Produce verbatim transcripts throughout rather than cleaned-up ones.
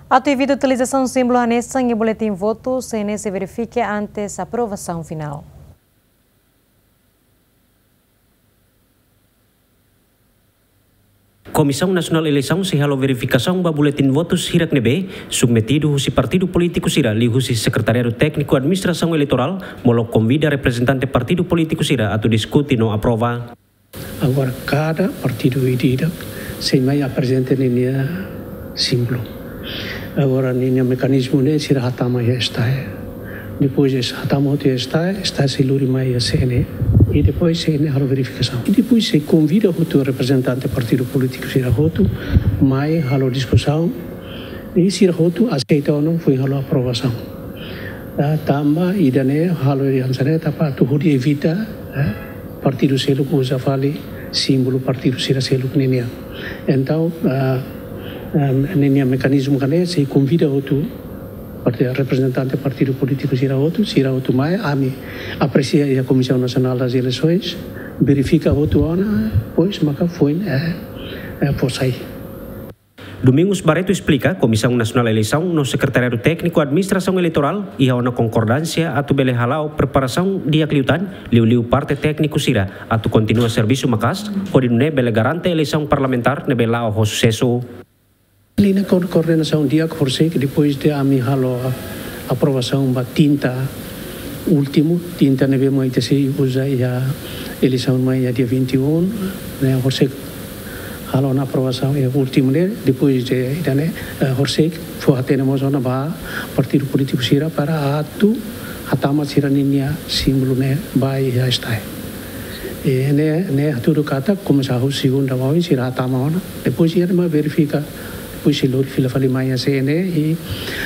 Atu evita utilizasaun símbolu hanesan iha boletin votu, C N E sei verifika antes aprovasaun finál. Komisaun Nasionál Eleisaun sei halo verifikasaun ba boletin votus hirak ne'ebé submetidu husi partidu polítiku sira liuhusi Sekretariadu Tékniku Administrasaun Eleitorál, molok konvida reprezentante partidu polítiku sira atu diskute no aprova. Agora, kada partidu ida-idak sei mai aprezenta ninia símbolu. Agora, ninia mekanizmu ne'e sira hatama iha STAE. Depois de hatama hotu iha STAE, STAE sei lori mai iha C N E. I depois C N E halo verifikasaun. I depois sei konvida hotu reprezentante partidu polítiku sira hotu mai halo diskusaun. I sira hotu aseita ou não, foin halo aprovasaun. Ah, tanba ida-ne'e halo hanesan ne'e tanba atu hodi evita, eh, partidu seluk uza fali símbolu partidu sira seluk ninian. Entaun, ah, ah, ninia mekanizmu hanesan ne'e, sei konvida hotu parti-, reprezentante partidu polítiku sira hotu, sira hotu mai, ami apresia iha Comissão Nacional das Eleições, verifika hotu ona, depois maka foin, eh, eh, fó sai. Domingos Barreto esplika, Komisaun Nasionál Eleisaun no Sekretariadu Tékniku Administrasaun Eleitorál iha ona konkordánsia atu bele hala'o preparasaun di'ak liután, liuliu parte tékniku sira atu kontinua servisu maka'as, hodi nune'e bele garante eleisaun parlamentár ne'ebé la'o ho susesu. Liña ko-, koordenasaun di'ak horisehik depois de ami halo a-, aprovasaun ba tinta últimu, tinta ne'ebé mak ita sei uza iha eleisaun mai iha dia vinte e um, ne'e horisehik halo ona aprovasaun iha últimu ne'e, depois de ida-ne'e, eh, horisehik fó hatene mós ona ba partidu polítiku sira para atu hatama sira-ninia símbolu ne'e ba iha STAE. I ne'e, ne'e hatudu katak komesa husi segunda ba oin sira hatama ona, depois iha ne'e mak verifika, depois sei lori fila fali mai iha C N E, i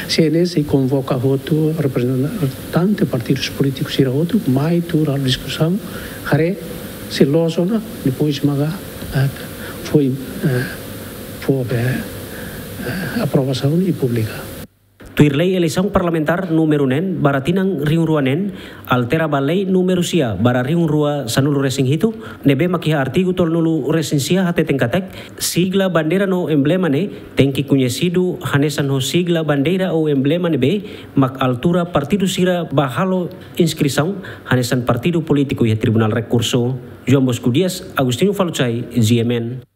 C N E sei konvoka hotu reprezentante partidus polítikus sira hotu mai tuur halo diskusaun, haree se loos ona, depois maka, eh, foin, eh, fó be, eh, aprovasaun i publika. Tuir lei eleisaun parlamentár númeru neen barra tinan rihun rua neen, altera ba lei númeru sia barra rihun rua sanulu resin hitu, ne'ebé mak iha artigu tolunulu resin sia hateten katak, sigla bandeira no emblema ne'e tenke koñesidu hanesan ho sigla bandeira ou emblema ne'ebé mak altura partidu sira ba halo inskrisaun hanesan partidu polítiku iha Tribunál Rekursu. João Bosco Dias, Agostinho Falutsai, G M N.